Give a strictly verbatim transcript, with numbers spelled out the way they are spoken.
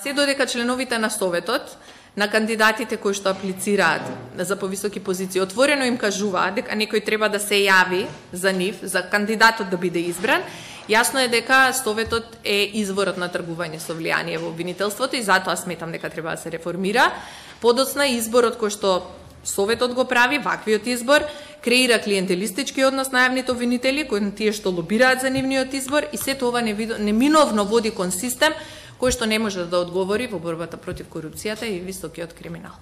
се додека членовите на Советот, на кандидатите кои што аплицираат за повисоки позиции, отворено им кажуваат дека некој треба да се јави за нив, за кандидатот да биде избран, јасно е дека Советот е изворот на тргување со влијание во обвинителството и затоа сметам дека треба да се реформира. Подоцна изборот кој што Советот го прави, ваквиот избор, креира клиентелистички однос на јавните обвинители, кои тие што лобираат за нивниот избор и сето ова неминовно води кон систем кој што не може да одговори во борбата против корупцијата и високиот криминал.